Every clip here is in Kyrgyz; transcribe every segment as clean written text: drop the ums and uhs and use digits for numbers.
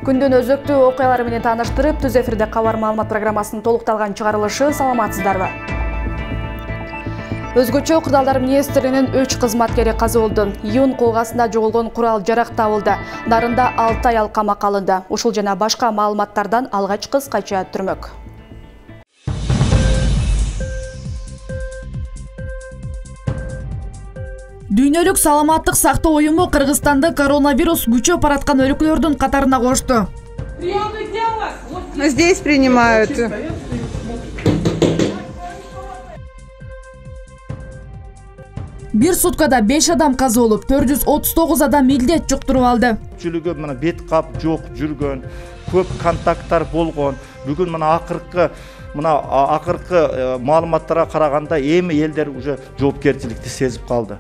Күндүн өзөктүү окуялары менен тааныштырып, Түз эфирде кабар маалымат программасынын толукталган чыгарылышы. Саламатсыздарбы? Өзгөчө Кырдаалдар министрлигинин 3 кызматкери каза болду. Июнь колгасында жоголгон курал-жарак табылды. Нарында 6 ай камакка алынды. Ушул жана башка маалыматтардан алгач кыскача түрмөк. Дүйнөлүк саламаттык сактоо уюму Кыргызстанды коронавирус күчөп бараткан өлкөлөрдүн катарына кошту. Здесь принимают. Бир суткада 5 адам каза болуп, 439 адам илдет жуктуруп алды. Көпчүлүгү мына бет кап жок жүргөн, көп контакттар болгон. Бүгүн мына акыркы маалыматтарга караганда эми элдер уже жоопкерчиликти сезип калды.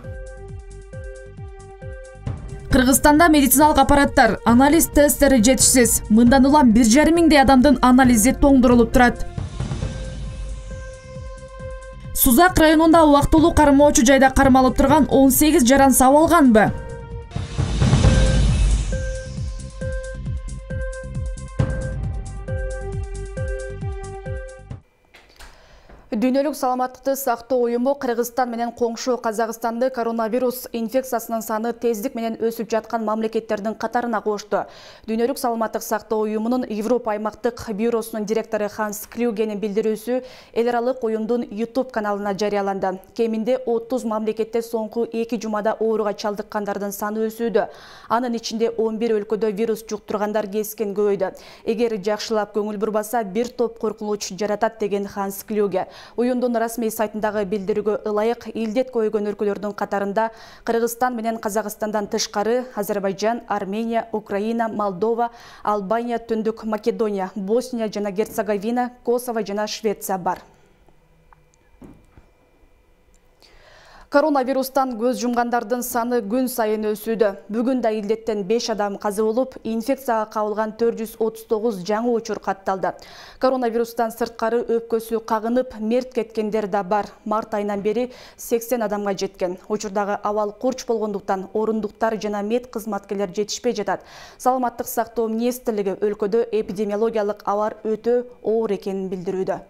Кыргызстанда медициналык аппараттар, анализ тесттери жетишсиз. Мындан улам 1,5 миңдей адамдын анализи тоңдурулуп турат. Сузак районунда убактылуу кармоочу жайда кармалып турган 18 жаран сабап алганбы? Дүйнөлүк саламаттыкты сактоо уюму Кыргызстан менен коңшу Казакстанды коронавирус инфекциясынын саны тездик менен өсүп жаткан мамлекеттердин катарына кошту. Дүйнөлүк саламаттык сактоо уюмунун Европа аймактык бюросунун директору Ханс Клюгенин билдирүүсү эл аралык уюмдун YouTube каналына жарыяланды. Кеминде 30 мамлекетте соңку 2 жумада ооруга чалдыккандардын саны өсүүдө. Анын ичинде 11 өлкөдө вирус жуктургандар кескен көбөйдү. Эгер жакшылап көңүл бурбаса, бир топ коркунуч жаратат деген Ханс Клюге. Уюмдун расмий сайтындагы билдирүүгө ылайык, илдет көбөйгөн өлкөлөрдүн катарында Кыргызстан менен Казакстандан тышкары Азербайжан, Армения, Украина, Молдова, Албания, Түндүк Македония, Босния жана Герцеговина, Косово жана Швеция бар. Коронавирустан көз жумгандардын саны күн сайын өсүүдө. Бүгүн да илдеттен 5 адам каза болуп, инфекцияга кабылган 439 жаңы учур катталды. Коронавирустан сырткары өпкөсү кагынып, мерт кеткендер да бар. Март айынан бери 80 адамга жеткен. Учурдагы абал курч болгондуктан орундуктар жана мед кызматкерлер жетишпей жатат. Саламаттык сактоо министрлиги өлкөдө эпидемиологиялык абар өтө оор экенин билдирүүдө.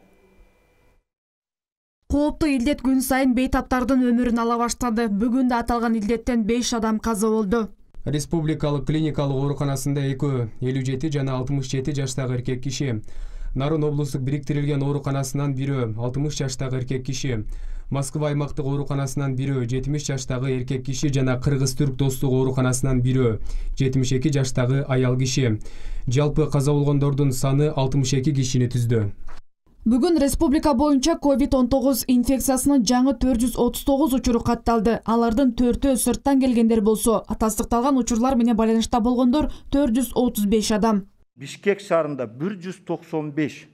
Кооптуу илдет күн сайын бейтаптардын өмүрүн ала баштады. Бүгүн да аталган илдеттен 5 адам каза болду. Республикалык клиникалык ооруканасында 2 57 жана 67 жаштагы эркек киши. Нарын облустук бириктирилген ооруканасынан 1 60 жаштагы эркек киши. Москва аймактык ооруканасынан 1 70 жаштагы эркек киши жана Кыргыз-Түрк достук ооруканасынан 1 72 жаштагы аял киши. Жалпы каза болгондордун саны 62 кишини түздү. Бүгүн республика боюнча COVID-19 инфекциясынын жаңы 439 учуру катталды. Алардын 4-өө сырттан келгендер болсо, тастыкталган учурлар менен байланышта болгондор 435 адам. Бишкек шаарында 195,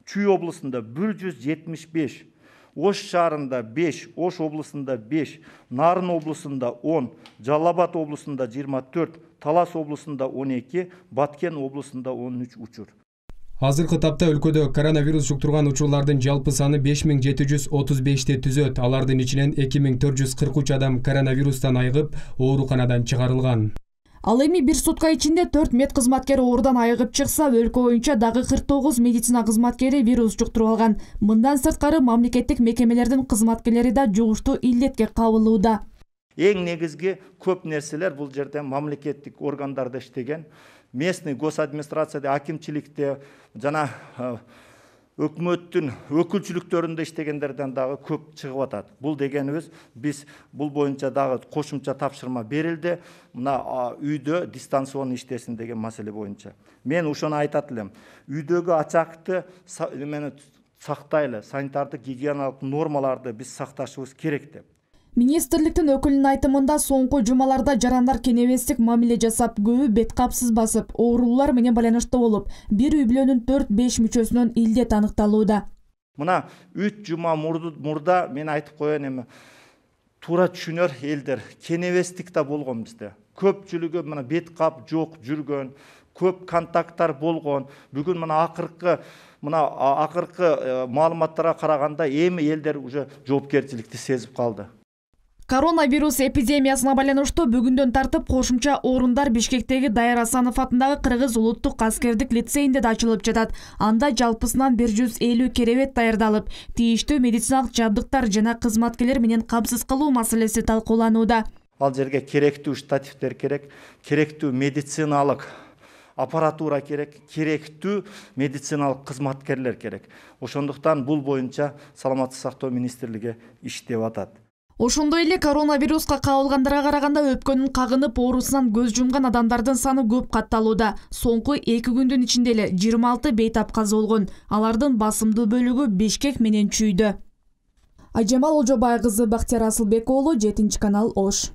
Чүй облусунда 175, Ош шаарында 5, Ош облусунда 5, Нарын облусунда 10, Жалал Абад облусунда 24, Талас облусунда 12, Баткен облусунда 13 учур. Азыркы тапта өлкөдө коронавирус жуктурган учурлардын жалпы саны 5735ти түзөт. Алардын ичинен 2443 адам коронавирустан айыгып, ооруканадан чыгарылган. Ал эми бир сутка ичинде 4 мед кызматкери оорудан айыгып чыкса, өлкө боюнча дагы 49 медицина кызматкери вирус жуктуруп алган. Мындан сырткары мамлекеттик мекемелердин кызматкерлери да жугуштуу илдетке кабылууда. Эң негизги көп нерселер бул жерде мамлекеттик органдарда иштеген, местный госадминистрацияда, акимчиликте жана өкмөттүн өкүлчүлүктөрүндө иштегендерден дагы көп чыгып атат. Бул дегенибиз биз бул боюнча дагы кошумча тапшырма берилди. Мына үйдө дистанционный иштесин деген маселе боюнча. Мен ошону айтат элем. Үйдөгү ачакты сактайлы, санитардык гигиеналык нормаларды биз сакташыбыз керек деп. Министрликтин өкүлүнүн айтымында соңку жумаларда жарандар кенебестик мамиле жасап, көбү бет капсыз басып, оорулар менен байланышта болуп, бир үй бүлөнүн 4-5 мүчөсүнөн илдет аныкталууда. Мына 3 жума мурда мен айтып коеюн эми, туура түшүнөр элдер, кенебестик да болгон бизде. Көпчүлүгү мына бет кап жок жүргөн, көп контакттар болгон. Бүгүн мына акыркы маалыматтарга караганда эми элдер уже жоопкерчиликти сезип калды. Коронавирус эпидемиясына байланыштуу бүгүндөн тартып кошумча орундар Бишкектеги Дайыр Асанов атындагы Кыргыз улуттук аскердик лицейинде да ачылып жатат. Анда жалпысынан 150 керебет даярдалып, тийиштүү медициналык жабдыктар жана кызматкерлер менен камсыз кылуу маселеси талкууланууда. Ал жерге керектүү штативдер керек, керектүү медициналык аппаратура керек, керектүү медициналык кызматкерлер керек. Ошондуктан бул боюнча Саламаттык сактоо министрлиги иштеп атат. Ошондой эле коронавируска кабылгандарга караганда өпкөнүн кагынып оорусунан көз жумган адамдардын саны көп катталууда. Соңку 2 күндүн ичинде эле 26 бейтап каза болгон. Алардын басымдуу бөлүгү Бишкек менен Чүйдө. Айжамал Олжобай кызы, Бактияр Асылбек уулу, 7 канал, Ош.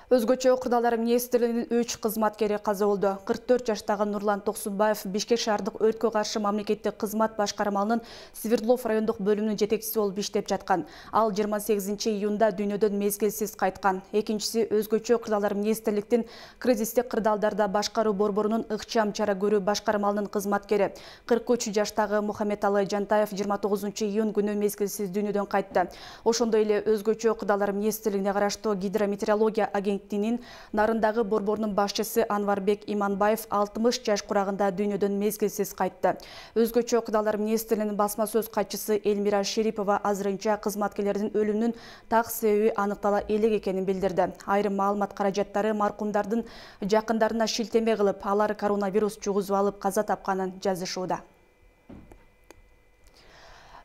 Өзгөчө кырдаалдар министрлигинин 3 кызматкери каза болду. 44 жаштагы Нурлан Токсунбаев Бишкек шаардык өрткө каршы мамлекеттик кызмат башкармалынын Свердлов райондук бөлүмүнүн жетекчиси болуп иштеп жаткан. Ал 28-июнда дүйнөдөн мезгилсиз кайткан. Экинчиси өзгөчө кырдаалдар министрликтин кризистик кырдаалдарда башкаруу борборунун ыкчам чара көрүү башкармалынын кызматкери. 43 жаштагы Мухаммедалы Жантаев 29-июнь күнү мезгилсиз дүйнөдөн кайтты. Ошондой эле өзгөчө кырдаалдар министрлигине караштуу гидрометеорология Нарындагы борборунун башчысы Анварбек Иманбаев 60 жаш курагында дүйнөдөн мезгилсиз кайтты. Өзгөчө кырдаалдар министрлигинин басма сөз катчысы Элмира Шерипова азырынча кызматкерлердин өлүмүнүн так себеби аныктала элек экенин билдирди. Айрым маалымат каражаттары маркумдардын жакындарына шилтеме кылып, алар коронавирус жугузуп алып каза тапканын жазышууда.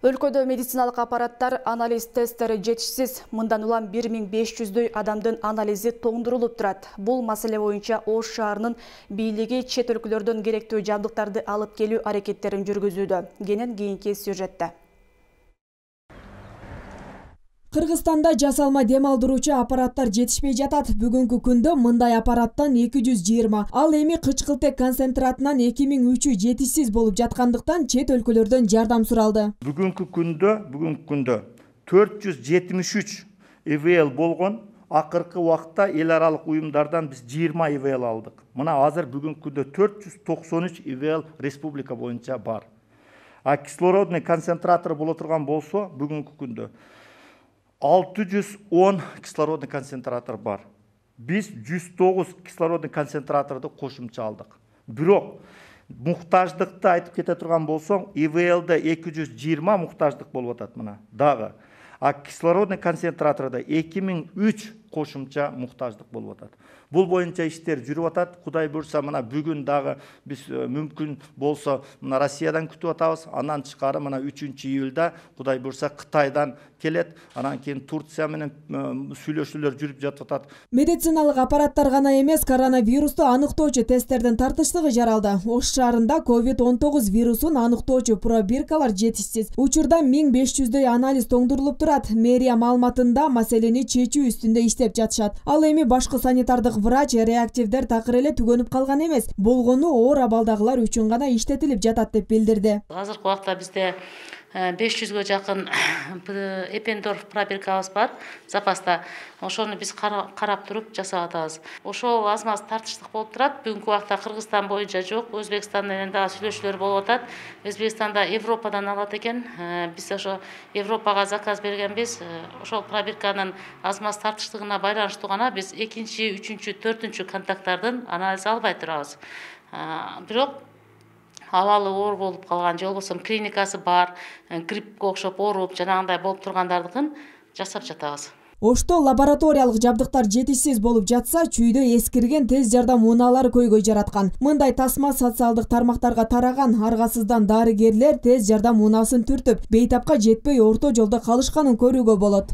Өлкөдө медициналык аппараттар, анализ тесттери жетишсиз. Мындан улам 1500дөй адамдын анализи тоңдурулуп турат. Бул маселе боюнча Ош шаарынын бийлиги чет өлкөлөрдөн керектүү жабдыктарды алып келүү аракеттерин жүргүзүүдө. Кенен кийинки сюжетте. Кыргызстанда жасалма дем алдыруучу аппараттар жетишпей жатат. Бүгүнкү күндө мындай аппараттан 220. Ал эми кычкылтек концентратынан 2003 жетишсиз болуп жаткандыктан чет өлкөлөрдөн жардам суралды. Бүгүнкү күндө 473 ИВЛ болгон. Акыркы убакта эл аралык уюмдардан биз 20 ИВЛ алдык. Мына азыр бүгүнкү күндө 493 ИВЛ республика боюнча бар. А кислородный концентратор боло турган болсо, бүгүнкү күндө 610 кислородный концентратор бар. Biz 109 кислородный концентраторду кошумча алдык. Бирок муктаждыкты айтып кете турган болсоң, ИВЛде 220 муктаждык болуп атат мына дагы. А кислородный концентраторда 2003 кошумча муктаждык болуп атат. Бул боюнча иштер жүрүп атат. Кудай буйрса, мына бүгүн дагы биз мүмкүн болсо мына Россиядан күтүп атабыз. Андан тышкары мына 3-июлда Кудай буйрса Кытайдан келет. Анан кийин Турция менен сүйлөшүүлөр жүрүп жатып атат. Медициналык аппараттар гана эмес, коронавирусту аныктоочу тесттердин тартыштыгы жаралды. Ош шаарында COVID-19 вирусун аныктоочу пробиркалар жетишсиз. Учурда 1500дөй анализ тоңдурулуп турат. Мэрия маалыматында маселени чечүү үстүндө иштеп жатышат. Ал эми башкы санитардык врач реактивдер такыр эле түгөнүп калган эмес, болгону оор абалдагылар үчүн гана иштетилип жатат деп билдирди. Азыркы убакта бизде 500гө жакын Эпендорф пробиркабыз бар запаста. Ошону биз карап туруп жасап атабыз. Ошол аз маз тартыштык болуп турат. Бүгүнкү убакта Кыргызстан боюнча жок, Өзбекстан менен дагы сүйлөшүүлөр болуп атат. Өзбекстанда Европадан алат экен. Биз ошо Европага заказ бергенбиз. Ошол пробирканын аз маз тартыштыгына байланыштуу гана биз 2-чи, 3-чү, 4-чү контакттардын анализ албай турабыз. Бирок абалы оор болуп калган, же болбосо клиникасы бар, гриппке окшоп ооруп, жанагындай болуп тургандардыкын жасап жатабыз. Ошто лабораториялык жабдыктар жетишсиз болуп жатса, Чүйдө эскирген тез жардам унаалары көйгөй жараткан. Мындай тасма социалдык тармактарга тараган. Аргасыздан дарыгерлер тез жардам унаасын түртүп, бейтапка жетпей орто жолдо калышканын көрүүгө болот.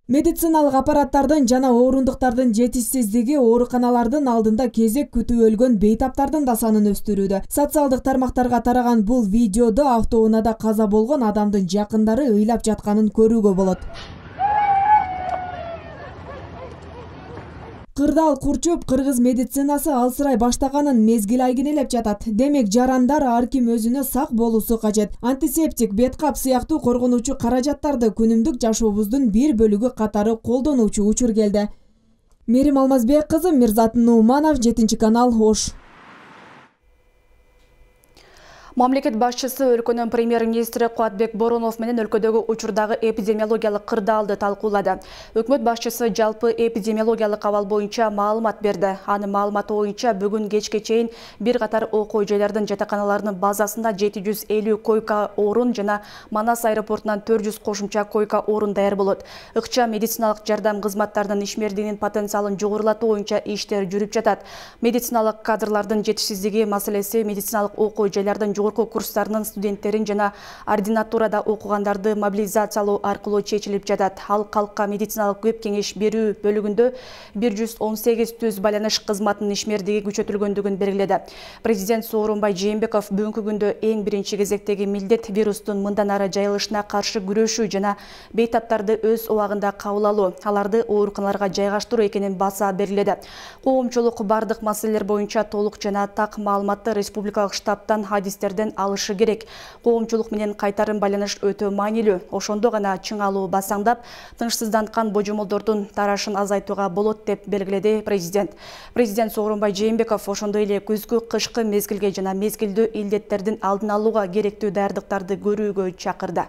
Медициналык аппараттардын жана орундуктардын жетишсиздиги ооруканалардын алдында кезек күтүп өлгөн бейтаптардын да санын өстүрүүдө. Социалдык тармактарга тараган бул видеодо автоунаада каза болгон адамдын жакындары ыйлап жатканын көрүүгө болот. Кырдаал курчуп, кыргыз медицинасы алсырай баштаганын мезгил айгинелеп жатат. Демек жарандар ар ким өзүнө сак болуусу кажет. Антисептик, бет кап сыяктуу коргонуучу каражаттарды күнүмдүк жашообуздун бир бөлүгү катары колдонуучу учур келди. Мерим Алмазбек кызы, Мирзат Нууманов, 7 канал, Ош. Мамлекет башчысы өлкөнүн премьер-министри Кубатбек Боронов менен өлкөдөгү учурдагы эпидемиологиялык кырдаалды талкуулады. Өкмөт башчысы жалпы эпидемиологиялык абал боюнча маалымат берди. Анын маалыматы боюнча бүгүн кечке чейин бир катар окуу жайлардын жатаканаларынын базасында 750 койка орун жана Манас аэропортунан 400 кошумча койка орун даяр болот. Ыкчам медициналык жардам кызматтарынын ишмердигинин потенциалын жогорулатуу боюнча иштер жүрүп жатат. Медициналык кадрлардын жетишсиздиги маселеси медициналык окуу жайлардын курстарынын студенттерин жана ординатурада окугандарды мобилизациялоо аркылуу чечилип жатат. Ал калкка медициналык көп кеңеш берүү бөлүгүндө 118 түз байланыш кызматынын ишмердиги күчөтүлгөндүгүн белгиледи. Президент Сооронбай Жээнбеков бүгүнкү күндө эң биринчи кезектеги милдет вирустун мындан ары жайылышына каршы күрөшүү жана бейтаптарды өз убагында кабыл алуу, аларды ооруканаларга жайгаштыруу экенин баса белгиледи. Коомчулук бардык маселелер боюнча толук жана так маалыматты республикалык штабтан адистерден алышы керек. Коомчулук менен кайтарым байланыш өтө маанилүү. Ошондо гана чыңалуу басаңдап, тынчсызданткан божомолдордун тарашын азайтууга болот деп белгиледи президент. Президент Сооронбай Жээнбеков ошондой эле күзгү кышкы мезгилге жана мезгилдүү илдеттердин алдын алууга керектүү даярдыктарды көрүүгө чакырды.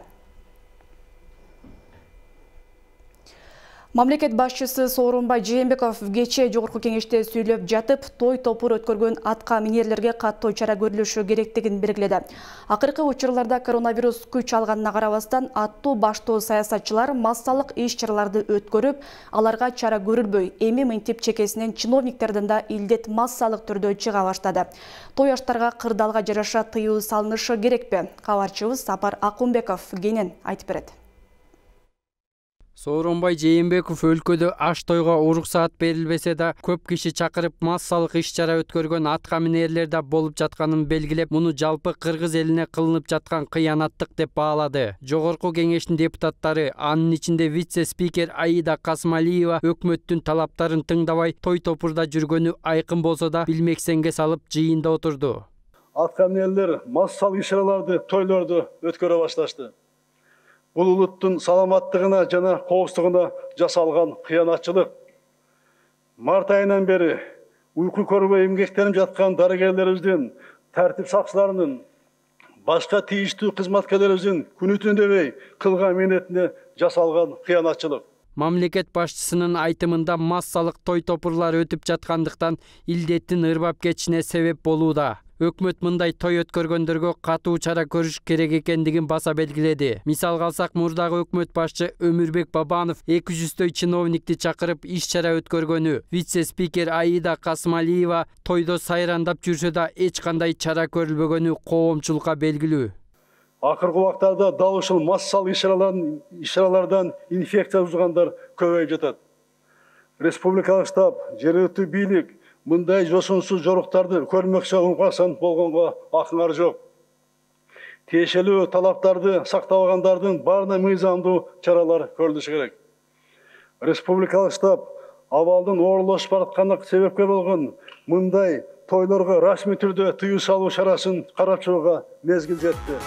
Мамлекет башчысы Сооронбай Жээнбеков кечээ жогорку кеңеште сүйлөп жатып, той топур өткөргөн атка минерлерге каттуу чара көрүлүшү керектигин белгиледи. Акыркы учурларда коронавирус күч алганына карабастан, аттуу баштуу саясатчылар массалык иш-чараларды өткөрүп, аларга чара көрүлбөй, эми мынтип чекесинен чиновниктердин да илдет массалык түрдө чыга баштады. Той аштарга кырдаалга жараша тыюу салынышы керекпи? Кабарчыбыз Сапар Акунбеков кенен айтып берет. Сооронбай Жээнбеков өлкөдө аш тойго уруксаат берилбесе да, көп киши чакырып массалык иш-чара өткөргөн атка минерлер да болуп жатканын белгилеп, муну жалпы кыргыз элине кылынып жаткан кыянаттык деп баалады. Жогорку кеңештин депутаттары, анын ичинде вице-спикер Аида Касмалиева өкмөттүн талаптарын тыңдабай, той топурда жүргөнү айкын болсо да билмексенге салып жыйында отурду. Атка минерлер массалык иш-чараларды, тойлорду өткөрө башташты. Бул улуттун саламаттыгына жана коопсуздугуна жасалган кыянатчылык. Март айынан бери уйку көрбөй эмгектенип жаткан дарыгерлерибиздин, тартип сакчыларынын, башка тийиштүү кызматкерлерибиздин күнү түнү дебей кылган мээнетине жасалган кыянатчылык. Мамлекет башчысынын айтымында массалык той топурлар өтүп жаткандыктан илдеттин ырбап кетишине себеп болууда. Өкмөт мындай той өткөргөндөргө катуу чара көрүш керек экендигин баса белгиледи. Мисалга алсак, мурдагы өкмөт башчы Өмүрбек Бабанов 200 чиновникти чакырып иш-чара өткөргөнү, вице-спикер Аида Касмалиева тойдо сайрандап жүрсө да эч кандай чара көрүлбөгөнү коомчулукка белгилүү. Акыркы убактарда дал ушул массалык иш-чаралардан инфекция узгандар көбөйүп жатат. Республикалык штаб, жергиликтүү бийлик мындай жосунсуз жоруктарды көрмөкчү умкасан болгонго акыңар жок. Тиешелүү талаптарды сактабагандардын баарына мыйзамдуу чаралар көрүлүшү керек. Республикалык штаб абалдын оорлошуп баратканына себепкер болгон мындай тойлорго расмий түрдө тыюу салуу чарасын карап чыгууга мезгил жетти.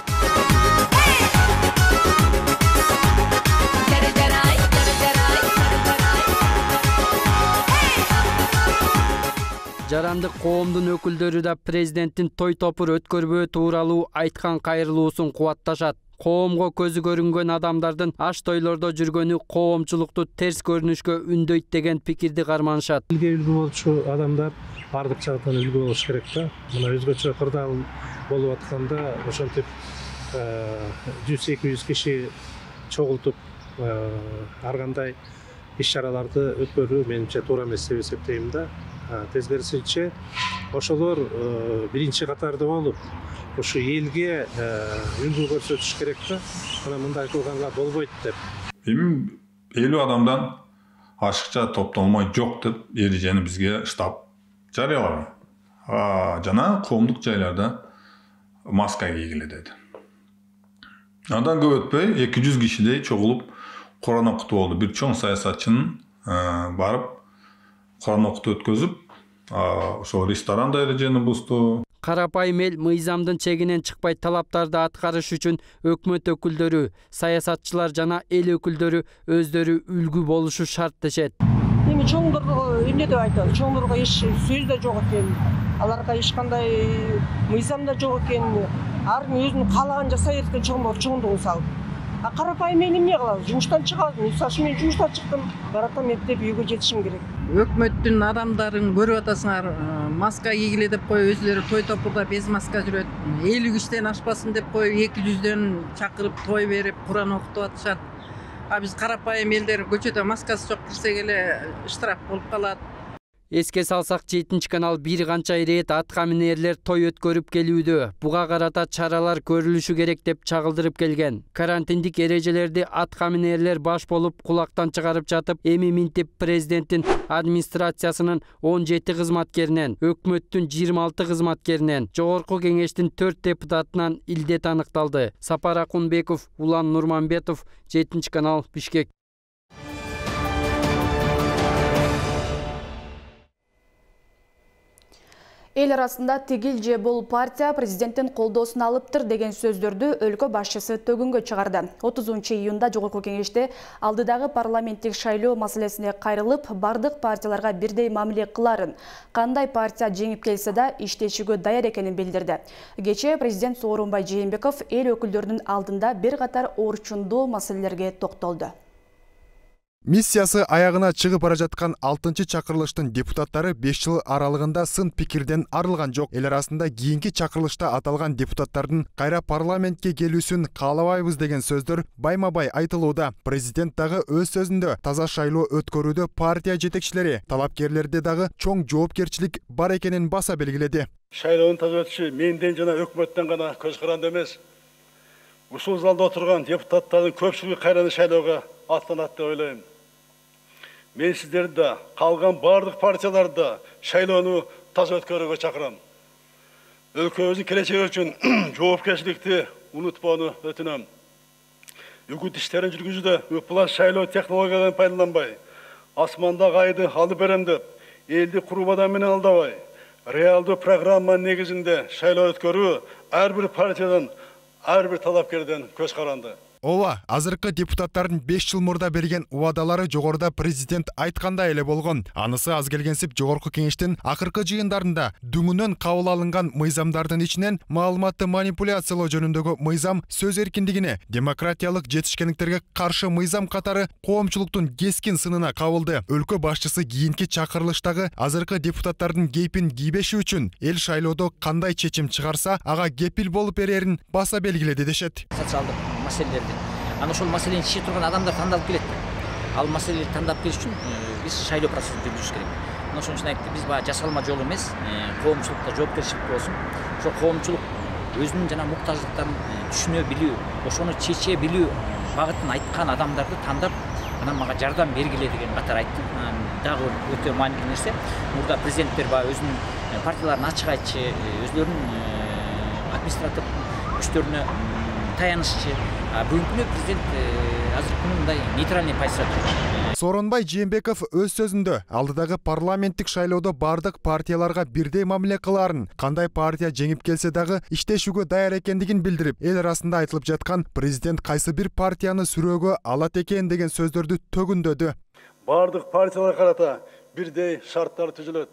Жарандык коомдун өкүлдөрү да президенттин той топур өткөрбөө тууралуу айткан кайрылуусун кубатташат. Коомго көзү көрүнгөн адамдардын аш тойлордо жүргөнү коомчулукту терс көрүнүшкө үндөйт деген пикирди карманышат. Элге үлгү болчу адамдар бардык жактан үлгү болуш керек да. Мына өзгөчө кырдаал болуп атканда ошентип 100-200 киши чогултуп ар кандай иш-чараларды өткөрүү менимче туура эмес деп эсептейм да. Тескерисинче ошолор биринчи катарда болуп, ушу элге үлгү көрсөтүш керек да. Мына мындай кылганга болбойт деп. Эми 50 адамдан ашыкча топтолмой жок деп эрежени бизге штаб жарыялаган. Жана коомдук жайларда маска кийгиле деди. Андан көп өтпөй 200 кишидей чогулуп Куран окутуу болду. Бир чоң саясатчынын барып Куран окутуу өткөзүп, ошо ресторанда эрежени бузду. Карапайым эл мыйзамдын чегинен чыкпай талаптарды аткарыш үчүн өкмөт өкүлдөрү, саясатчылар жана эл өкүлдөрү өздөрү үлгү болушу шарт дешет. Эми чоңдорго эмне деп айталы? Чоңдорго эч сөз да жок экен. Аларга эч кандай мыйзам да жок экен. ар ким өзүнүн каалаган жасай берген чоңдугун салып. Карапайым эл эмне кылабыз? Жумуштан чыгабыз. Мисалы мен жумуштан чыктым, баратам мектеп үйгө жетишим керек. Өкмөттүн адамдарын көрүп атасыңар, маска кийгиле деп коюп, өзүлөрү той топурда без маска жүрөт. 50 кишиден ашпасын деп коюп, 200дөн чакырып той берип, Куран окутуп атышат. Биз карапайым элдер көчөдө маскасы жок кирсек эле штраф болуп калат. Эске салсак, 7-канал бир канча ирет атка минерлер той өткөрүп келүүдө. Буга карата чаралар көрүлүшү керек деп чагылдырып келген. Карантиндик эрежелерди атка минерлер баш болуп кулактан чыгарып жатып, эми минтип президенттин администрациясынын 17 кызматкеринен, өкмөттүн 26 кызматкеринен, жогорку кеңештин 4 депутатынан илдет аныкталды. Сапар Акунбеков, Улан Нурманбетов, 7-канал, Бишкек. Эл арасында тигил же бул партия президенттин колдоосун алыптыр деген сөздөрдү өлкө башчысы төгүнгө чыгарды. 30-июнда жогорку кеңеште алдыдагы парламенттик шайлоо маселесине кайрылып, бардык партияларга бирдей мамиле кыларын, кандай партия жеңип келсе да иштешүүгө даяр экенин билдирди. Кечээ президент Сооронбай Жээнбеков эл өкүлдөрүнүн алдында бир катар орчундуу маселелерге токтолду. Миссиясы аягына чыгып бара жаткан 6-чакырылыштын депутаттары 5 жыл аралыгында сын пикирден арылган жок. Эл арасында кийинки чакырылышта аталган депутаттардын кайра парламентке келүүсүн каалабайбыз деген сөздөр байма-бай айтылууда. Президент дагы өз сөзүндө таза шайлоо өткөрүүдө партия жетекчилери, талапкерлерде дагы чоң жоопкерчилик бар экенин баса белгиледи. Шайлоонун таза өтүшү менден жана өкмөттөн гана көз каранды эмес. Ушул залда отурган депутаттардын көпчүлүгү кайрадан шайлоого аттанат деп ойлойм. Мен сиздерди калган бардык партияларды шайлоону таза өткөрүүгө чакырам. Өлкөбүздүн келечеги үчүн жоопкерчиликти унутпоону өтүнөм. Үгүт иштерин жүргүзүүдө ыплас шайлоо технологияларын пайдаланбай, асмандагы айды алып берем деп, элди курмадан менен алдабай, реалдуу программа негизинде шайлоо өткөрүү ар бир партиядан, ар бир талапкерден көз каранды. Ооба, азыркы депутаттардын 5 жыл мурда берген убадалары жогоруда президент айткандай эле болгон. Анысы аз келгенсип жогорку кеңештин акыркы жыйындарында дүңүнөн кабыл алынган мыйзамдардын ичинен маалыматты манипуляциялоо жөнүндөгү мыйзам сөз эркиндигине, демократиялык жетишкендиктерге каршы мыйзам катары коомчулуктун кескин сынына кабылды. Өлкө башчысы кийинки чакырылыштагы азыркы депутаттардын кейпин кийбеши үчүн эл шайлоодо кандай чечим чыгарса, ага кепил болуп берерин баса белгиледи дешет. Социалдык маселелерди ана ошол маселени чече турган адамдар тандалып келет. Ал маселелерди тандап келиш үчүн биз шайлоо процессин жүргүзүш керек. Ошон үчүн айтты, биз баягы жасалма жол эмес, коомчулукта жоопкерчилик болсун. Ошо коомчулук өзүнүн жана муктаждыктарын түшүнө билүү, ошону чече билүү багытын айткан адамдарды тандап, анан мага жардам бергиле деген катар айтты. Дагы өтө маанилүү нерсе, мурда президенттер баягы өзүнүн партияларын ачык айтчы, өзүлөрүнүн административ күчтөрүнө таянышчы. Бүгүнкү күнү президент азыркы күнү мындай нейтральный позицияда турат. Сооронбай Жээнбеков өз сөзүндө алдыдагы парламенттик шайлоодо бардык партияларга бирдей мамиле кылаарын, кандай партия жеңип келсе дагы иштешүүгө даяр экендигин билдирип, эл арасында айтылып жаткан президент кайсы бир партияны сүрөөгө алат экен деген сөздөрдү төгүндөдү. Бардык партияларга карата бирдей шарттар түзүлөт.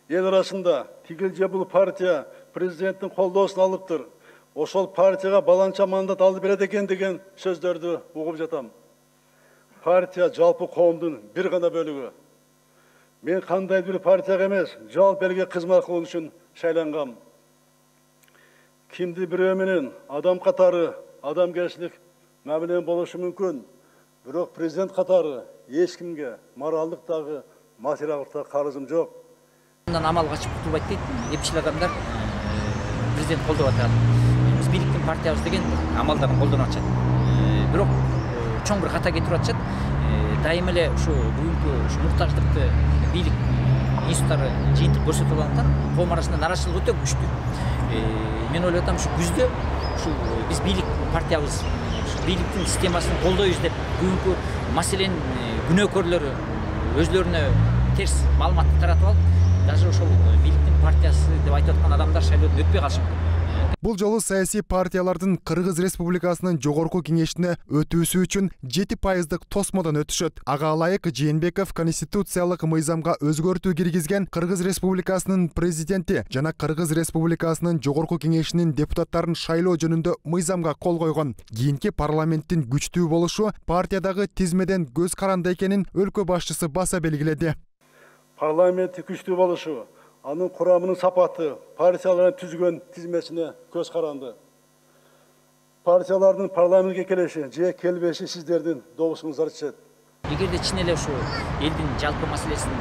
Эл арасында тигил же бул партия президенттин колдоосун алыптыр, ошол партияга баланча мандат алып берет экен деген сөздөрдү угуп жатам. Партия жалпы коомдун бир гана бөлүгү. Мен кандай бир партияга эмес, жалпы элге кызмат кылуу үчүн шайлангам. Кимди бирөө менен адам катары адамгерчилик мамиле болушу мүмкүн, бирок президент катары эч кимге моралдык дагы, материалдык да карызым жок. Мындан амал качып кутулбайт дейт, эпчил адамдар президент колдоп атат. Биз бийликтин партиябыз деген амалдарын колдонуп атышат. Бирок чоң бир ката кетирип атышат. Дайыма эле ушу бүгүнкү муктаждыкты бийлик институттары жыйынтык көрсөтүп аткан коом арасында нааразычылык өтө күчтүү. Мен ойлоп атам, ушу күздө биз бийлик партиябыз, бийликтин системасын колдойбуз деп бүгүнкү маселенин күнөөкөрлөрү өзлөрүнө терс маалыматты таратып алып, даже ошол бийликтин партиясы деп айтып аткан адамдар шайлоодон өтпөй калышы мүмкүн. Бул жолу саясий партиялардын Кыргыз Республикасынын жогорку кеңешине өтүүсү үчүн 7% тосмодон өтүшөт. Ага ылайык Жээнбеков конституциялык мыйзамга өзгөртүү киргизген Кыргыз Республикасынын президенти жана Кыргыз Республикасынын жогорку кеңешинин депутаттарын шайлоо жөнүндө мыйзамга кол койгон. Кийинки парламенттин күчтүү болушу партиядагы тизмеден көз каранды экенин өлкө башчысы баса белгиледи. Парламенттин күчтүү болушу, анын курамынын сапаты, партиялардын түзгөн тизмесине көз каранды. Партиялардын парламентке келиши же келбеши сиздердин добусуңуздар чечет. Эгерде чын эле ушу элдин жалпы маселесин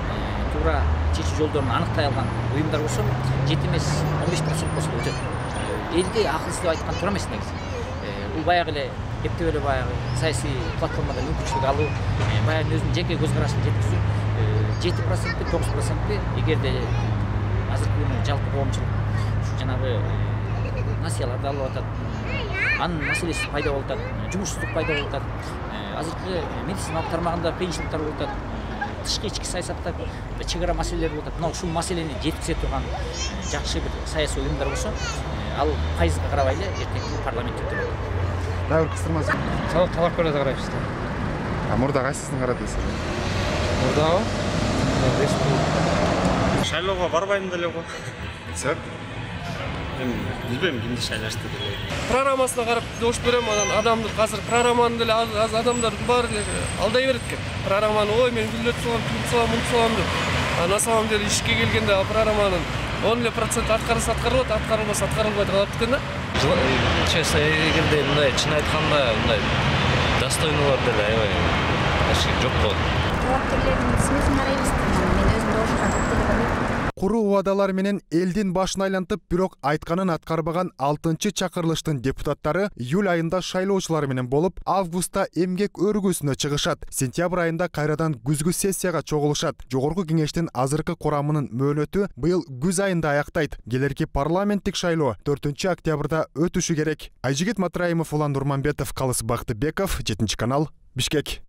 туура чечүү жолдорун аныктай алган уюмдар болсо, 7 эмес 15% болсо өтөт. Элди акылсыз деп айткан туура эмес негизи. Бул баягы эле эптеп эле баягы саясий платформада мүмкүнчүлүк алуу, баягы өзүнүн жеке көз карашын жеткизүү 7% 9% эгерде азыркы күнү жалпы коомчулук жанагы насыяларды алып атат, анын маселеси пайда болуп атат, жумушсуздук пайда болуп атат, азыркы медициналык тармагында кыйынчылыктар болуп атат, тышкы ички саясатта чек ара маселелер болуп атат. Мына ушул маселени жеткизе турган жакшы бир саясий уюмдар болсо, ал пайызга карабай эле эртеңки парламентте өтөт. Дагы бир кыстырмасы. Талапкерлерди карайбыз. Мурда кайсысын карадыңыз? Мурдабы? Шайлоого барбайм деле го. Себеп? Мен билбейм, кимди шайлашты деле. Программасына карап добуш берем, анан адамдык азыр программаны деле адамдардын баары эле алдай берет экен. Программаны ой мен гүлдөп салам, тигип салам, мынтип салам деп. На самом деле ишке келгенде программанын 10% аткарылса аткарылат, аткарылбаса аткарылбайт калат экен да. Честно, эгерде мындай чын айтканда мындай достойнолор деле аябай жок болот. Талапкерлердин смысын карайбыз. Мен өзүм добушка токтолгон. Куруу убадалар менен элдин башын айлантып, бирок айтканын аткарбаган 6-чы чакырылыштын депутаттары июль айында шайлоочулар менен болуп, августта эмгек өргүүсүнө чыгышат. Сентябрь айында кайрадан күзгү сессияга чогулушат. Жогорку кеңештин азыркы курамынын мөөнөтү быйыл күз айында аяктайт. Келерки парламенттик шайлоо 4-октябрда өтүшү керек. Айжигит Матраимов, Улан Нурманбетов, Калыс Бактыбеков, 7-канал, Бишкек.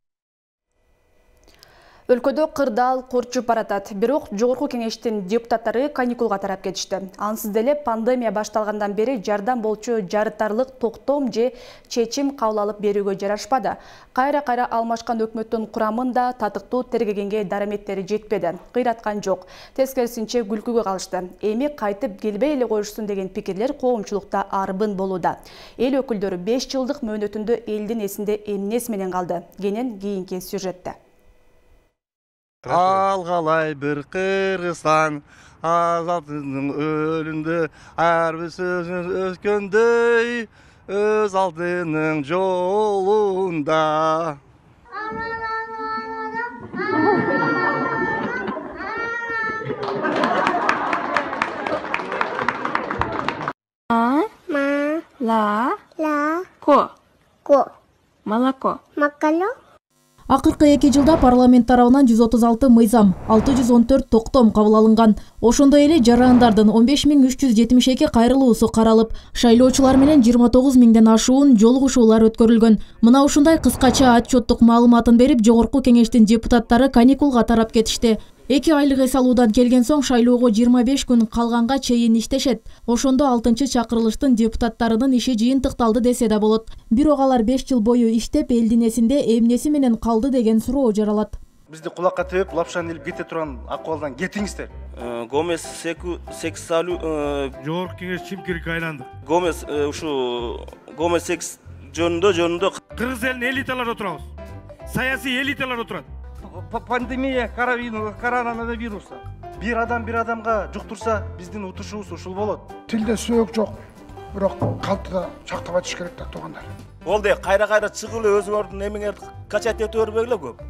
Өлкөдө кырдаал корчуп баратат. Бирок жогорку кеңештин депутаттары каникулга тарап кетишти. Ансыз деле пандемия башталгандан бери жардам болчу жарытарлык токтом же чечим кабыл алып берүүгө жарашпады. Кайра-кайра алмашкан өкмөттүн курамында татыктуу тергегенге дараметтери жетпеди. Кыйраткан жок. Тескерисинче күлкүгө калышты. Эми кайтып келбей эле коюшсун деген пикирлер коомчулукта арбын болууда. Эл өкүлдөрү 5 жылдык мөөнөтүндө элдин эсинде эмнеси менен калды? Кенен кийинки сюжетте. Алгалай бир Кыргызстан, азаттыктын өлүндө ар бир сөзүн өткөндөй, өз алдынын жолунда. Ко. Молоко. Макало. Акыркы 2 жылда парламент тарабынан 136 мыйзам, 614 токтом кабыл алынган. Ошондой эле жарандардын 15372 кайрылуусу каралып, шайлоочулар менен 29 миңден ашуун жолугушуулар өткөрүлгөн. Мына ушундай кыскача отчеттук маалыматын берип, жогорку кеңештин депутаттары каникулга тарап кетишти. 2 айлык эс алуудан келген соң шайлоого 25 күн калганга чейин иштешет. Ошондо 6-чы чакырылыштын депутаттарынын иши жыйынтыкталды десе да болот. Бирок алар 5 жыл бою иштеп, элдин эсинде эмнеси менен калды деген суроо жаралат. Бизди кулакка тебип, лапшаны илип кете турган акыбалдан кетиңиздер. Гомес сексуалу жогорку кеңеш чимкирикке айланды. Гомес ушу Гомес секс жөнүндө Кыргыз элинин элиталары отурабыз. Саясий элиталар отурат. Пандемия коронавируса. Бир адамга жуктурса, биздин утушубуз ушул болот. Тилде сөөк жок, бирок калтыда сактап айтыш керек да туугандар. Болду, кайра-кайра чыгып эле өзүңөрдүн эмеңерди качат этип бербей эле көп.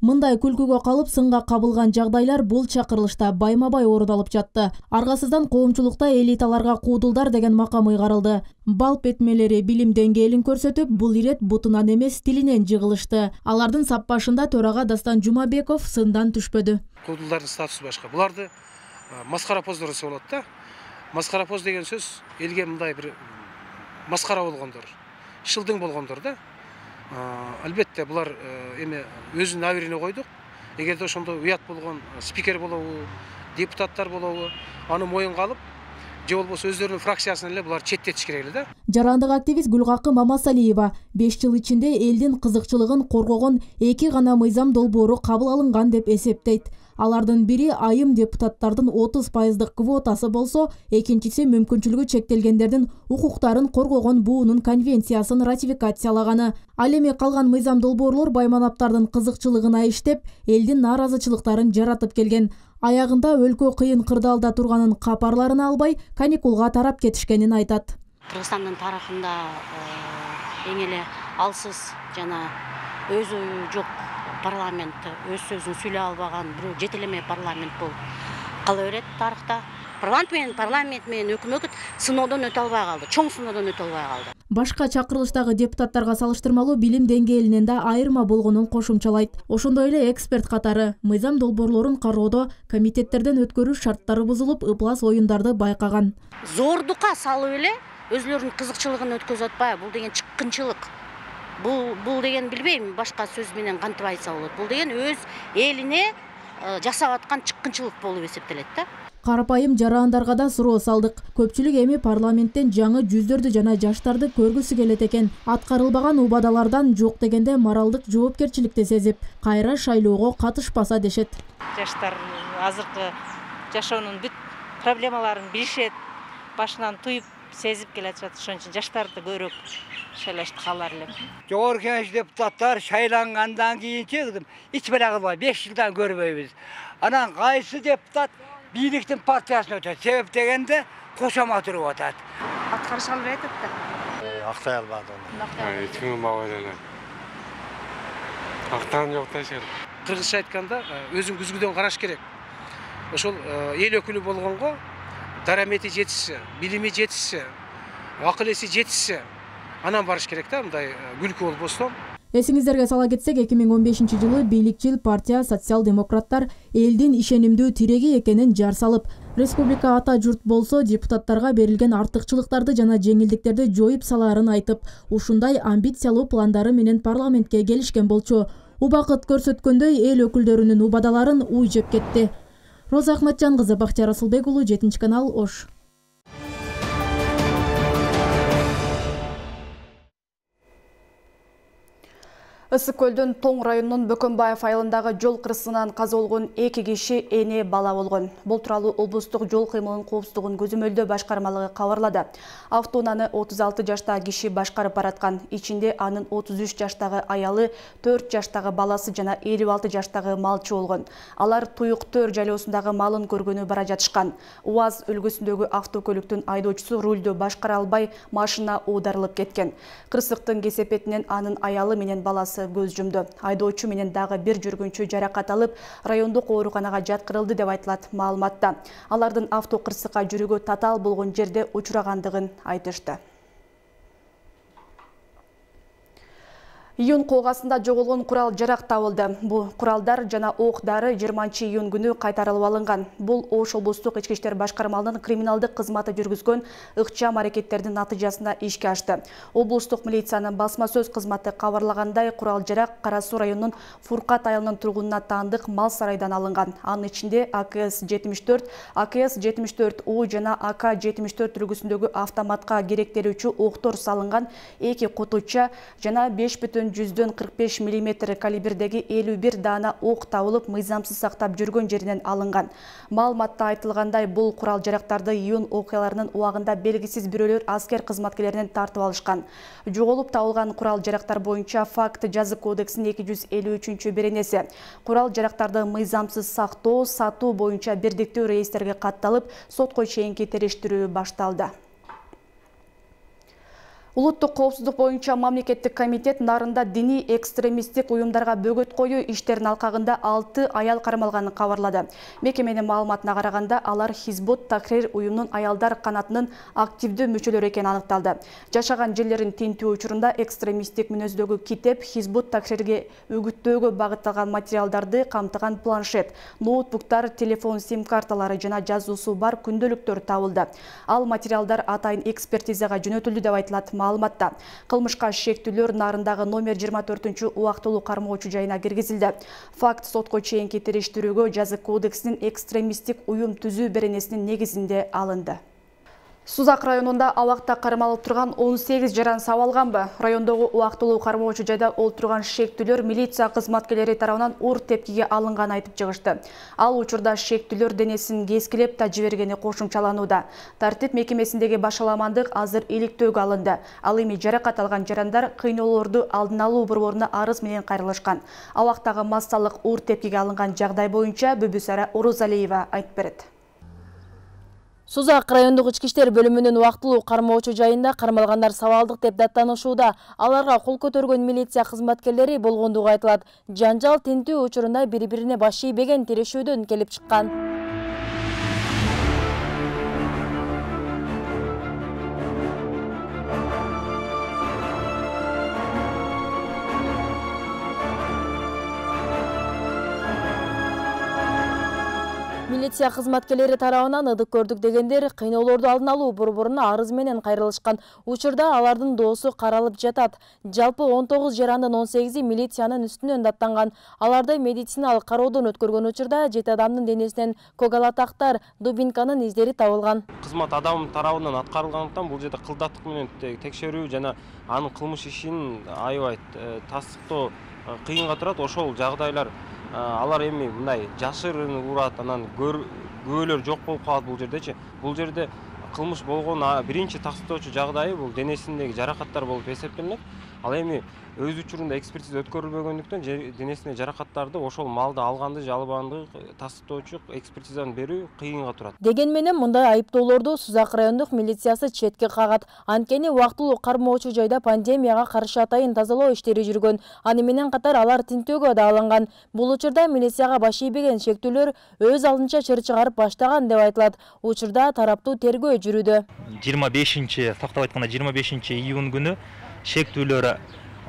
Мындай күлкүгө калып сынга кабылган жагдайлар бул чакырылышта байма-бай орун алып жатты. Аргасыздан коомчулукта элиталарга куудулдар деген макам ыйгарылды. Балп этмелери билим деңгээлин көрсөтүп, бул ирет бутунан эмес тилинен жыгылышты. Алардын сап башында төрага Дастан Жумабеков сындан түшпөдү. Куудулдардын статусу башка. Буларды маскаропоздор десе болот да. Маскаропоз деген сөз элге мындай бир маскара болгондор, шылдың болгондор да. Албетте булар эми өзүнүн абирине койдук. Эгерде ошондо уят болгон спикер болобу, депутаттар болобу, аны моюнга алып, же болбосо өздөрүнүн фракциясын эле булар четтетиш керек эле да. Жарандык активист Гүлгакы Мамасалиева 5 жыл ичинде элдин кызыкчылыгын коргогон 2 гана мыйзам долбоору кабыл алынган деп эсептейт. Алардын бири айым депутаттардын 30% квотасы болсо, экинчиси мүмкүнчүлүгү чектелгендердин укуктарын коргогон буунун конвенциясын ратификациялаганы. Ал эми калган мыйзам долбоорлор байманаптардын кызыкчылыгына иштеп, элдин нааразычылыктарын жаратып келген. Аягында өлкө кыйын кырдаалда турганын капарларына албай, каникулга тарап кетишкенин айтат. Кыргызстандын тарыхында эң эле алсыз жана өз ою жок парламент, өз сөзүн сүйлөй албаган бирөө жетелеме парламент болуп кала берет тарыхта. Парламент менен өкмөт сыноодон өтө албай калды, чоң сыноодон өтө албай калды. Башка чакырылыштагы депутаттарга салыштырмалуу билим деңгээлинен да айырма болгонун кошумчалайт. Ошондой эле эксперт катары мыйзам долбоорлорун кароодо комитеттерден өткөрүү шарттары бузулуп, ыплас оюндарды байкаган. Зордукка салып эле өзлөрүнүн кызыкчылыгын өткөзүп атпайбы? Бул деген чыккынчылык. Бул деген билбейм, башка сөз менен кантип айтса болот. Бул деген өз элине жасап аткан чыккынчылык болуп эсептелет да. Карапайым жарандарга да суроо салдык. Көпчүлүк эми парламенттен жаңы жүздөрдү жана жаштарды көргүсү келет экен. Аткарылбаган убадалардан жок дегенде моралдык жоопкерчиликти сезип, кайра шайлоого катышпаса дешет. Жаштар азыркы жашоонун бүт проблемаларын билишет, башынан туюп сезип келе жатат. Ошон үчүн жаштарды көбүрөөк шайлашты каалар элем. Жогорку Кеңеш депутаттар шайлангандан кийинчи кызым эч бир кылбай 5 жылдан көрбөйбүз. Анан кайсы депутат бийликтин партиясына өтөт. Себеп дегенде кошомат уруп атат. Аткарыша албай атат да. Актай албады аны. Эч ким мага эле. Актан жок да эшер. Кыргызча айтканда өзүң күзгүдөн караш керек. Ошол эл өкүлү болгонго дарамети жетишсе, билими жетишсе, акыл эси жетишсе, анан барыш керек да, мындай күлкү болбостон. Эсиңиздерге сала кетсек, 2015-жылы бийликчил партия социал-демократтар элдин ишенимдүү тиреги экенин жар салып, республика ата журт болсо депутаттарга берилген артыкчылыктарды жана жеңилдиктерди жоюп салаарын айтып, ушундай амбициялуу пландары менен парламентке келишкен болчу. Убакыт көрсөткөндөй эл өкүлдөрүнүн убадаларын уй жеп кетти. Роза Ахматжан кызы, Бактияр Асылбек уулу, 7-канал, Ош. Ысык көлдүн Тоң районунун Бөкөнбаев айылындагы жол кырсыгынан каза болгон 2 киши эне бала болгон. Бул тууралуу облустук жол кыймылынын коопсуздугун көзөмөлдөө башкармалыгы кабарлады. Автоунааны 36 жаштагы киши башкарып бараткан. Ичинде анын 33 жаштагы аялы, 4 жаштагы баласы жана 56 жаштагы малчы болгон. Алар Туюктөр жайлоосундагы малын көргөнү бара жатышкан. УАЗ үлгүсүндөгү автокөлүктүн айдоочусу рулду башкара албай машина оодарылып кеткен. Кырсыктын кесепетинен анын аялы менен баласы көз жумду. Айдоочу менен дагы бир жүргүнчү жаракат алып, райондук ооруканага жаткырылды деп айтылат маалыматта. Алардын авто кырсыкка жүрүүгө татаал болгон жерде учурагандыгын айтышты. Июнь колгасында жоголгон курал жарак табылды. Бул куралдар жана ок-дары 20-июнь күнү кайтарылып алынган. Бул Ош облустук ички иштер башкармалынын криминалдык кызматы жүргүзгөн ыкчам аракеттердин натыйжасында ишке ашты. Облустук милициянын басма сөз кызматы кабарлагандай, курал жарак Кара Суу районунун Фуркат айылынын тургунуна таандык мал сарайдан алынган. Анын ичинде АКС-74, АКС-74У жана АК-74 үлгүсүндөгү автоматка керектерүүчү октор салынган 2 кутуча жана 5,45 мм калибрдеги 51 даана ок табылып, мыйзамсыз сактап жүргөн жеринен алынган. Маалыматта айтылгандай, бул курал жарактарды июнь окуяларынын убагында белгисиз бирөөлөр аскер кызматкерлеринен тартып алышкан. Жоголуп табылган курал жарактар боюнча факт жазык кодексинин 253-беренеси. Курал жарактарды мыйзамсыз сактоо, сатуу боюнча бирдиктүү реестрге катталып, сотко чейинки териштирүү башталды. Улуттук коопсуздук боюнча мамлекеттик комитет Нарында диний экстремисттик уюмдарга бөгөт коюу иштеринин алкагында 6 аял кармалганын кабарлады. Мекеменин маалыматына караганда, алар Хизбут Тахрир уюмунун аялдар канатынын активдүү мүчөлөрү экени аныкталды. Жашаган жерлерин тинтүү учурунда экстремисттик мүнөздөгү китеп, Хизбут Тахрирге үгүттөөгө багытталган материалдарды камтыган планшет, ноутбуктар, телефон сим-карталары жана жазуусу бар күндөлүктөр табылды. Ал материалдар атайын экспертизага жөнөтүлдү деп айтылат маалыматта. Кылмышка шектүүлөр Нарындагы номер 24-убактылуу кармоочу жайына киргизилди. Факт сотко чейинки териштирүүгө жазык кодексинин экстремисттик уюм түзүү беренесинин негизинде алынды. Сузак районунда абакта кармалып турган 18 жаран сабалганбы? Райондогу убактылуу кармоочу жайда олтурган шектүүлөр милиция кызматкерлери тарабынан уур тепкиге алынган айтып чыгышты. Ал учурда шектүүлөр денесин кескилеп да жибергени кошумчаланууда. Тартип мекемесиндеги башаламандык азыр иликтөөгө алынды. Ал эми жаракат алган жарандар кыйноолорду алдын алуу борборуна арыз менен кайрылышкан. Абактагы массалык уур тепкиге алынган жагдай боюнча Бүбүсара Орозалиева айтып берет. Сузак райондук ички иштер бөлүмүнүн убактылуу кармоочу жайында кармалгандар сабалдык деп даттанышууда. Аларга кол көтөргөн милиция кызматкерлери болгондугу айтылат. Жанжал тинтүү учурунда бири-бирине баш ийбеген тирешүүдөн келип чыккан. Милиция кызматкерлери тарабынан ыдык көрдүк дегендер кыйноолорду алдын алуу борборуна арыз менен кайрылышкан. Учурда алардын доосу каралып жатат. Жалпы 19 жарандын 18-и милициянын үстүнөн даттанган. Аларды медициналык кароодон өткөргөн учурда 7 адамдын денесинен когалатактар, дубинканын издери табылган. Кызмат адам тарабынан аткарылгандыктан бул жерде кылдаттык менен текшерүү жана анын кылмыш ишин аябай тастыктоо кыйынга турат. Ошол жагдайлар алар эми мындай жашырын урат, анан көөлөр жок болуп калат бул жердечи. Бул жерде кылмыш болгон биринчи тастыктоочу жагдайы бул денесиндеги жаракаттар болуп эсептелинет. Ал эми өз учурунда экспертиза өткөрүлбөгөндүктөн денесине жаракаттарды ошол малды алганды же албаганды тастыктоочу экспертизаны берүү кыйынга турат. Деген менен мындай айыптоолорду Сузак райондук милициясы четке кагат. Анткени убактылуу кармоочу жайда пандемияга каршы атайын тазалоо иштери жүргөн. Аны менен катар алар тинтөөгө да алынган. Бул учурда милицияга баш ийбеген шектүүлөр өз алдынча чыр чыгарып баштаган деп айтылат. Учурда тараптуу тергөө жүрүүдө. 25 токтоп айтканда 25 июнь күнү шектүүлөр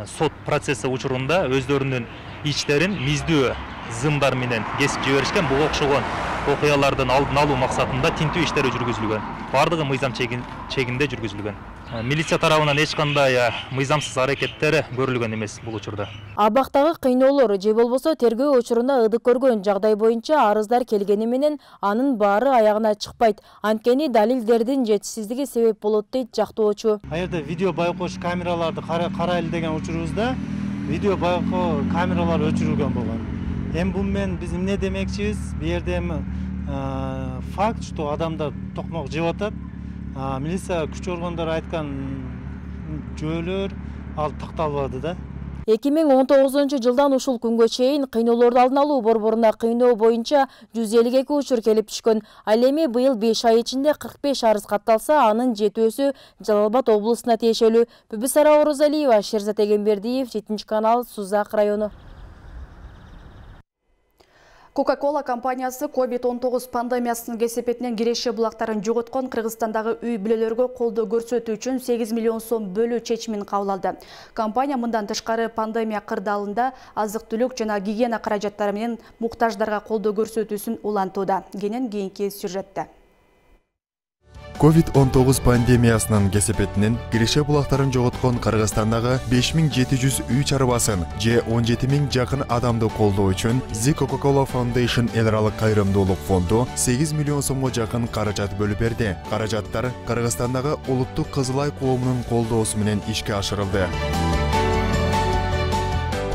сот процесси учурунда өздөрүнүн ичтерин миздүү зымдар менен кесип жиберишкен. Буга окшогон окуялардын алдын алуу максатында тинтүү иштери жүргүзүлгөн. Бардыгы мыйзам чегинде жүргүзүлгөн. Милиция тарабынан эч кандай мыйзамсыз аракеттер көрүлгөн эмес бул учурда. Абактагы кыйноолор же болбосо тергөө учурунда ыдык көргөн жагдай боюнча арыздар келгени менен анын баары аягына чыкпайт. Анткени далилдердин жетишсиздиги себеп болот дейт жактоочу. Аерде видео байкош камераларды карайлы деген учурубузда видео байкоо камералар өчүрүлгөн болгон. Эми бул менен биз эмне демекчибиз? Бу жерде факт, что адамдар токмок жеп атат. Милиция күч органдары айткан жөөлөр ал такталбады да. 2019-жылдан ушул күнгө чейин кыйноолорду алдын алуу борборуна кыйноо боюнча 152 учур келип түшкөн. Ал эми быйыл 5 ай ичинде 45 арыз катталса, анын 7-өсү Жалал Абад облусуна тиешелүү. Бүбүсара Орозалиева, Шерзат Эгембердиев, 7 канал, Сузак району. Coca-Cola компаниясы COVID-19 пандемиясынын кесепетинен киреше булактарын жоготкон Кыргызстандагы үй бүлөлөргө колдоо көрсөтүү үчүн 8 миллион сом бөлүү чечимин кабыл алды. Компания мындан тышкары пандемия кырдаалында азык-түлүк жана гигиена каражаттары менен муктаждарга колдоо көрсөтүүсүн улантууда. Кийинки сюжетте. COVID-19 пандемиясынын кесепетинен киреше булактарын жоготкон Кыргызстандагы 5700 үй чарбасын же 17000 жакын адамды колдоо үчүн The Coca-Cola Foundation эл аралык кайрымдуулук фонду 8 миллион сомго жакын каражат бөлүп берди. Каражаттар Кыргызстандагы улуттук Кызылай коомунун колдоосу менен ишке ашырылды.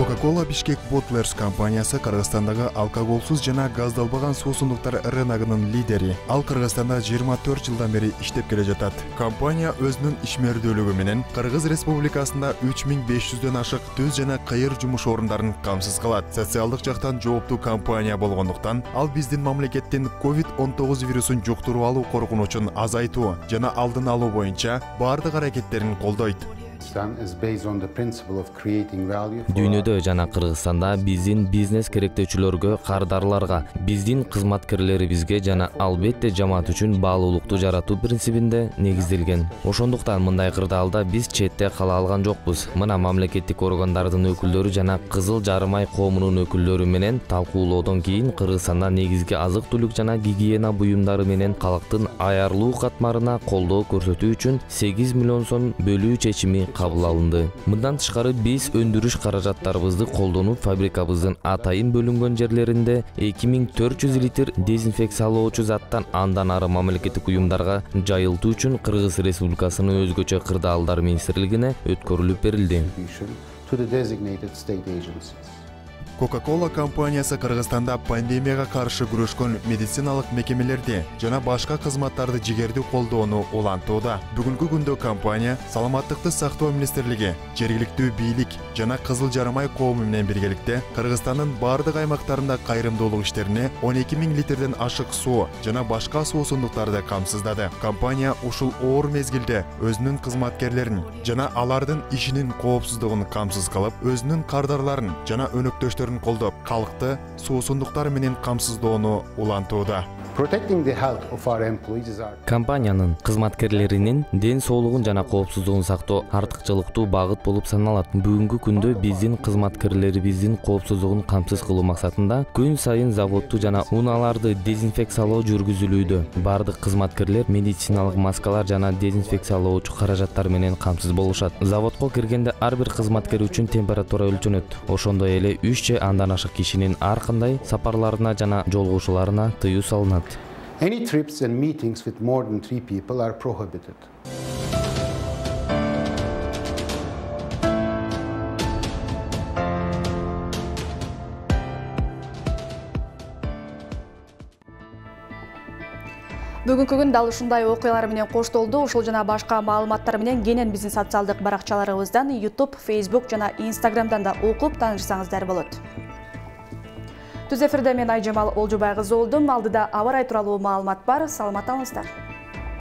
Coca-Cola Bishkek Bottlers компаниясы Кыргызстандагы алкоголсуз жана газдалбаган суусундуктар рыногунун лидери. Ал Кыргызстанда 24 жылдан бери иштеп келе жатат. Компания өзүнүн ишмердүүлүгү менен Кыргыз Республикасында 3500дөн ашык түз жана кыйыр жумуш орундарын камсыз кылат. Социалдык жактан жооптуу компания болгондуктан, ал биздин мамлекеттин COVID-19 вирусун жуктуруп алуу коркунучун азайтуу жана алдын алуу боюнча бардык аракеттерин колдойт. Дүйнөдө жана Кыргызстанда биздин бизнес керектөөчүлөргө, кардарларга, биздин кызматкерлерибизге жана албетте жамаат үчүн баалуулукту жаратуу принцибинде негизделген. Ошондуктан мындай кырдаалда биз четте кала алган жокпуз. Мына мамлекеттик органдардын өкүлдөрү жана Кызыл Жарым ай коомунун өкүлдөрү менен талкуулоодон кийин Кыргызстанда негизги азык-түлүк жана гигиена буюмдары менен калктын аярлуу катмарына колдоо көрсөтүү үчүн 8 миллион сом бөлүү чечими кабыл алынды. Мындан тышкары биз өндүрүш каражаттарыбызды колдонуп, фабрикабыздын атайын бөлүнгөн жерлеринде 2400 литр дезинфекциялоочу заттан андан ары мамлекеттик уюмдарга жайылтуу үчүн Кыргыз Республикасынын өзгөчө кырдаалдар министрлигине өткөрүлүп берилди. Coca-Cola компаниясы Кыргызстанда пандемияга каршы күрөшкөн медициналык мекемелерди жана башка кызматтарды жигердүү колдоону улантууда. Бүгүнкү күндө компания саламаттыкты сактоо министрлиги, жергиликтүү бийлик жана Кызыл Жарым ай коому менен биргеликте Кыргызстандын бардык аймактарында кайрымдуулук иштерине 12 000 литрден ашык суу жана башка суусундуктарды камсыздады. Компания ушул оор мезгилде өзүнүн кызматкерлерин жана алардын ишинин коопсуздугун камсыз кылып, өзүнүн кардарларын жана өнөктөштөрүн колдоп, калкты суусундуктар менен камсыздоону улантууда. Компаниянын кызматкерлеринин ден соолугун жана коопсуздугун сактоо артыкчылыктуу багыт болуп саналат. Бүгүнкү күндө биздин кызматкерлерибиздин коопсуздугун камсыз кылуу максатында күн сайын заводду жана унааларды дезинфекциялоо жүргүзүлүүдө. Бардык кызматкерлер медициналык маскалар жана дезинфекциялоочу каражаттар менен камсыз болушат. Заводко киргенде ар бир кызматкер үчүн температура өлчөнөт. Ошондой эле 3 же андан ашык кишинин ар кандай сапарларына жана жолугушууларына тыюу салынат. Any trips and meetings with more than 3 people are prohibited. Бүгүнкү күн дал ушундай окуялар менен коштолду. Ушул жана башка маалыматтар менен кенен биздин социалдык баракчаларыбыздан YouTube, Facebook жана Instagram'дан да окуп таанышсаңыздар болот. Түз эфирде мен Айжамал Олжобай кызы болдум. Алдыда аба ырайы тууралуу маалымат бар. Саламат алыңыздар.